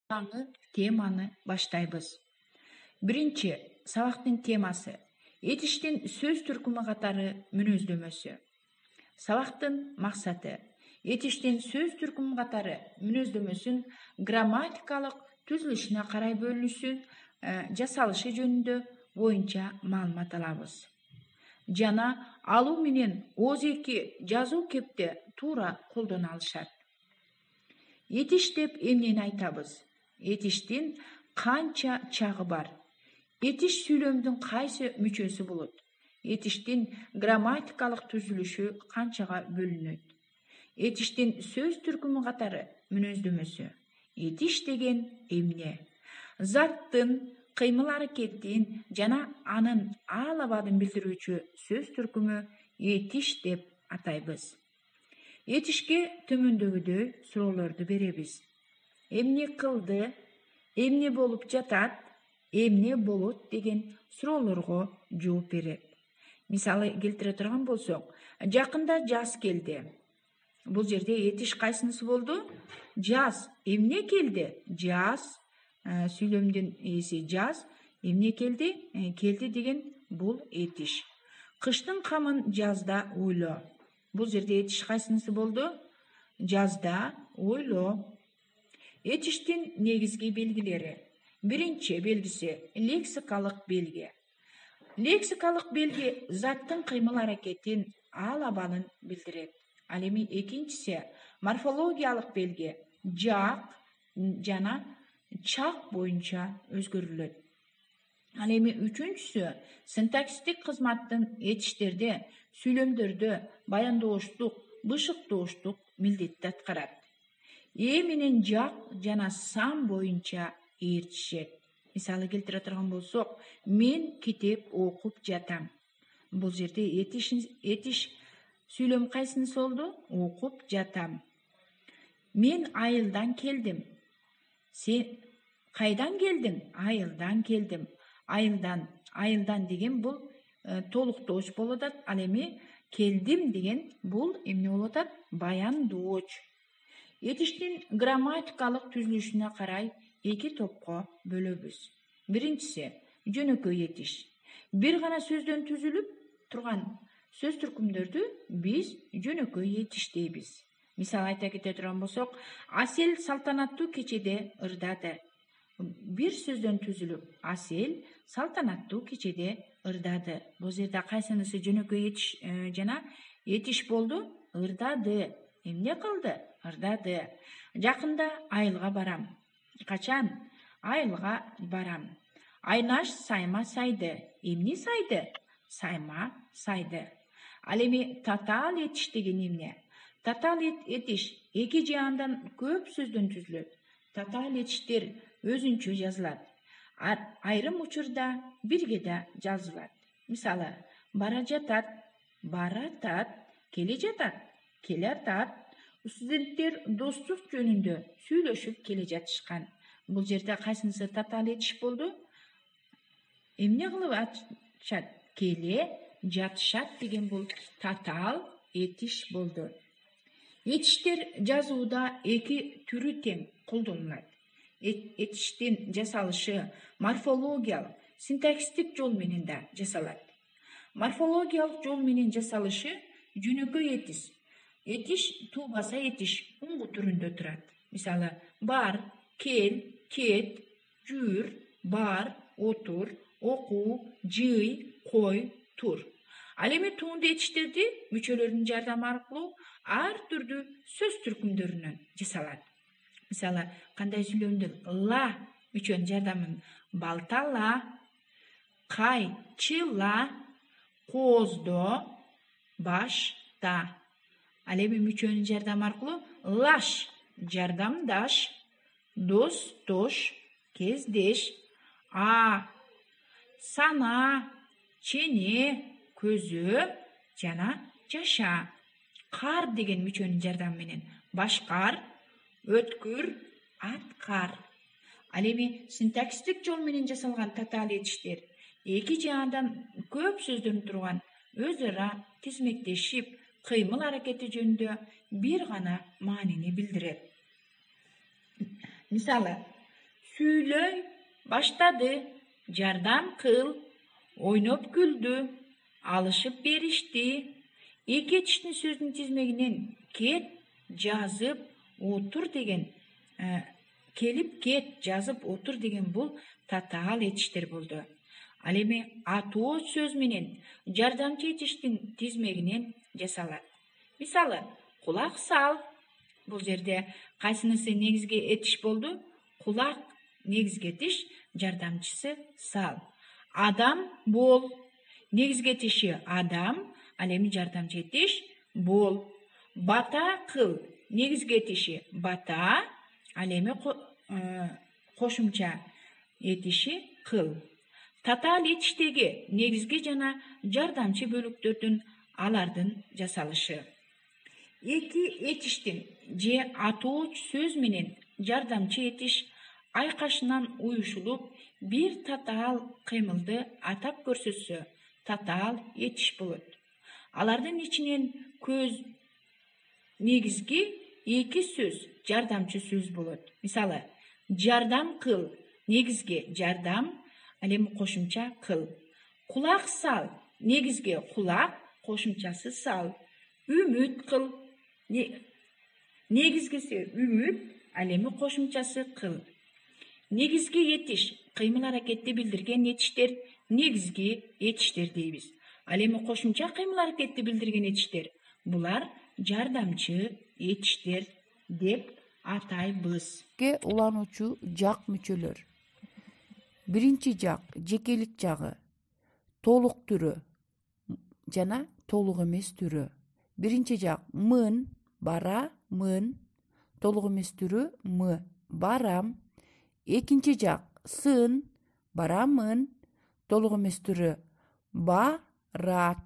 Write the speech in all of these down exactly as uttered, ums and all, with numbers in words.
жаңы теманы баштайбыз. Биринчи сабактын темасы этиштин сөз түркүмү катары мүнөздөмөсү. Сабактын максаты этиштин сөз түркүмү катары мүнөздөмөсүн грамматикалык түзүлүшүнө карай бөлүнүшү, жасалышы жөнүндө боюнча маалымат алабыз. Жана алуу менен ооз-эки жазуу кепте туура колдоно алышат. Этиш деп эмнени айтабыз? Этиштин канча чагы бар? Этиш сүйлөмдүн кайсы мүчөсү болот? Этиштин грамматикалык түзүлүшү канчага бөлүнөт? Этиштин сөз түркүмү катары мүнөздөмөсү. Этиш деген эмне? Заттын, кыймыл аракеттин жана анын аал абадын билдирүүчү сөз түркүмү этиш деп атайбыз. Этишке төмөндөгүдөй суроолорду беребиз. Эмне кылды? Эмне болуп жатат? Эмне болот деген суроолорго жооп берет. Мисалы келтире турган болсок, жакында жаз келди. Бул жерде этиш кайсынысы болду? Жаз. Эмне келди? Жаз. Сүйлөмдүн ээси жаз. Эмне келди? Келди деген бул этиш. Кыштын камын жазда ойло. Бул жерде этиш кайсынысы болду? Жазда ойло. Этиштин негизги белгилери. Биринчи белгиси лексикалык белги. Лексикалык белги заттын кыймыл аракетин, аал абалын билдирет. Ал эми экинчиси морфологиялык белги. Жак жана чак боюнча өзгөрүлөт. Ал эми үчүнчүсү синтаксистик кызматтын этиштерде, сүйлөмдөрдө баяндооштук, бышыктооштук милдетти аткарат. Э менен жак жана сан боюнча ээрчишет. Мисалы келтире турган болсок, мен китеп окуп жатам. Бул жерде этиш этиш сүйлөм кайсынысы болду? Окуп жатам. Мен айылдан келдим. Сен кайдан келдиң? Айылдан келдим. Айылдан, айылдан деген бул э, толуктооч болуп атат. Ал эми келдим деген бул эмне болуп атат? Баяндооч. Этиштин грамматикалык түзүлүшүнө карай эки топко бөлөбүз. Биринчиси жөнөкөй этиш. Бир гана сөздөн түзүлүп турган сөз түркүмдөрдү биз жөнөкөй этиш дейбиз. Мисалы айта кете турган болсок, Асел салтанаттуу кечеде ырдады. Бир сөздөн түзүлүп, Асел салтанаттуу кечеде ырдады. Бул жерде кайсынысы жөнөкөй этиш жана этиш болду? Ырдады. Эмне кылды? Ырдады. Жакында айылга барам. Качан? Айылга барам. Айнаш сайма сайды. Эмне сайды? Сайма сайды. Ал эми татаал этиш деген эмне? Татаал этиш эки же андан көп сөздөн түзүлөт. Татаал этиштер өзүнчө жазылат. Айрым учурда бирге да жазылат. Мисалы, бара жатат, баратат, келе жатат, келатат. Студенттер достук жөнүндө сүйлөшүп келе жатышкан. Бул жерде кайсынысы татаал этиш болду? Эмне кылып атышат? Келе жатышат деген бул татаал этиш болду. Этиштер жазууда эки түрү тең колдонулат. Этиштин жасалышы морфологиялык, синтаксистик жол менен да жасалат. Морфологиялык жол менен жасалышы жөнөкөй этиш. Этиш туубаса этиш уңгу түрүндө турат. Мисалы, бар, кел, кет, жүр, бар, отур, оку, жый, кой, тур. Ал эми туунду этиштерди мүчөлөрдүн жардамы аркылуу ар түрдүү сөз түркүмдөрүнөн жасалат. Мисалы, кандай сүйлөмдүн ла мүчөнүн жардамын балтала, кайчыла, кооздо, башта. Ал эми мүчөнүн жардамы аркылуу лаш жардамдаш, достош, кездеш, а, сана, чене, көзө жана жаша. Кар деген мүчөнүн жардамы менен башкар, өткүр, аткар. Ал эми синтаксистик жол менен жасалган татаал этиштер эки же андан көп сөздөн турган өз ара тизмектешип кыймыл аракети жөнүндө бир гана маанини билдирет. Мисалы, сүйлөй баштады. Жардам кыл. Ойноп күлдү. Алышып беришти. Эки этиштин сөзүнүн тизмегинен кет, жазып, отур деген келип кет, жазып, отур деген бул татаал этиштер болду. Ал эми атуу сөз менен жардамчы этиштин тизмегинен жасалат. Мисалы, кулак сал. Бул жерде кайсынысы негизги этиш болду? Кулак негизги этиш, жардамчысы сал. Адам бол. Негизги этиши адам, ал эми жардамчы этиш бол. Бата кыл. Негизги этиши бата, ал эми кошумча этиши кыл. Татаал этиштеги негизги жана жардамчы бөлүктөрдүн алардын жасалышы. Эки этиштин же атуу сөз менен жардамчы этиш айкашынан уюшулуп, бир татаал кыймылды атап көрсөтсө, татаал этиш болот. Алардын ичинен көз негизги эки сөз жардамчы сөз болот. Мисалы, жардам кыл, негизги жардам, ал эми кошумча кыл. Кулак сал, негизги кулак, кошумчасы сал. Үмүт кыл, негизгиси үмүт, ал эми кошумчасы кыл. Негизги этиш, кыймыл аракетти билдирген этиштер негизги этиштер дейбиз. Ал эми кошумча кыймыл аракетти билдирген этиштер, булар жардамчы этиштер деп атайбыз. Улануучу жак мүчөлөр. Биринчи жак жекелик жагы, толук түрү жана толук эмес түрү. Биринчи жак мын, бара, мын, толук эмес түрү мы, барам. Экинчи жак сын, барамын, толук эмес түрү барат.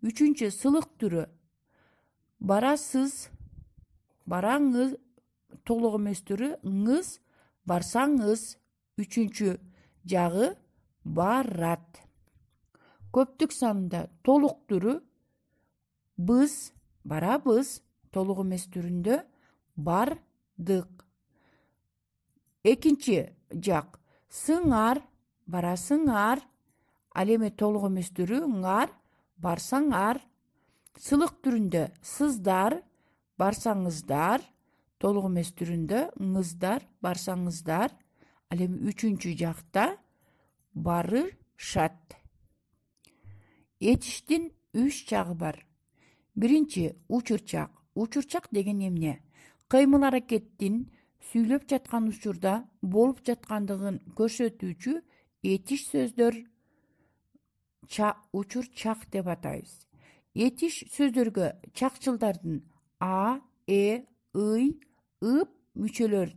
Үчүнчү сылык түрү барасыз, бараңыз, толук эмес түрү ыңыз, барсаңыз. Үчүнчү жагы барат. Көптүк санында толук түрү біз, барабыз, толук эмес түрүндө бардык. Экинчи жак сыңар, барасыңар, ал эми толук эмес түрү ыңар, барсаңар. Сылык түрүндө сыздар, барсаңыздар, толук эмес түрүндө ыңыздар, барсаңыздар. Ал эми үчүнчү жакта барышат. Этиштин үч жагы бар. Биринчи учурчак. Учурчак деген эмне? Кыймыл аракеттин сүйлөп жаткан учурда болуп жаткандыгын көрсөтүүчү этиш сөздөр учурчак деп атайбыз. Этиш сөздөргө чакчылдардын а, э, ый, ып мүчөлөр,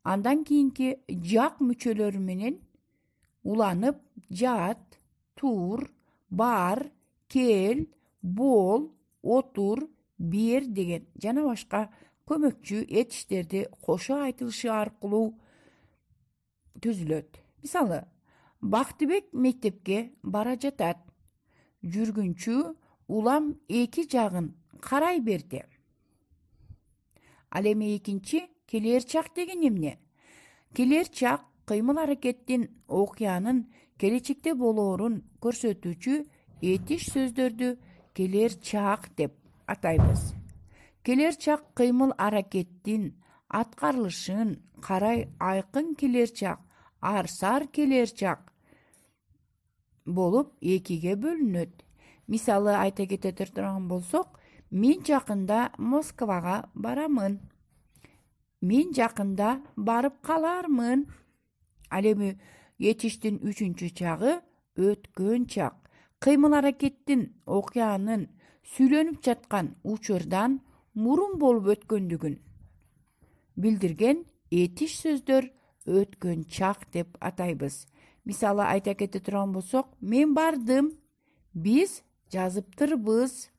андан кийинки жак мүчөлөрү менен уланып жат, тур, бар, кел, бол, отур, бер деген жана башка көмөкчү этиштерди кошо айтылышы аркылуу түзүлөт. Мисалы, Бактыбек мектепке бара жатат. Жүргүнчү улам эки жагын карай берди. Ал эми экинчи келер чак деген эмне? Келер чак кыймыл аракеттин окуянын келечекте болоорун көрсөтүүчү этиш сөздөрдү келер чак деп атайбыз. Келер чак кыймыл аракеттин аткарылышын карай айкын келер чак, арсар келер чак болуп экиге бөлүнөт. Мисалы айта кете турган болсок, мен жакында Москвага барамын. Мен жакында барып калармын. Ал эми этиштин үчүнчү чагы өткөн чак. Кыймыл аракеттин окуянын сүйлөнүп жаткан учурдан мурун болуп өткөндүгүн билдирген этиш сөздөр өткөн чак деп атайбыз. Мисалы айта кете турган болсок, мен бардым, биз жазыптырбыз.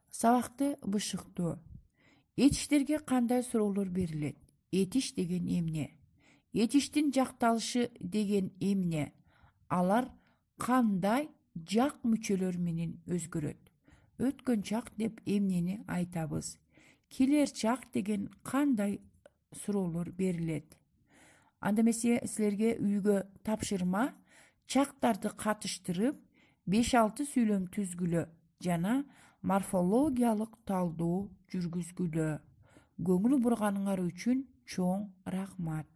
Сабакты бышыктоо. Этиштерге кандай суроолор берилет? Этиш деген эмне? Этиштин жакталышы деген эмне? Алар кандай жак мүчөлөр менен өзгөрөт? Өткөн чак деп эмнени айтабыз? Келер чак деген кандай суроолор берилет? анда эмесе силерге үйгө тапшырма чактарды катыштырып беш алты сүйлөм түзгүлө жана морфологиялык талдоо жүргүзгүлө. Көңүл бурганыңар үчүн чоң рахмат.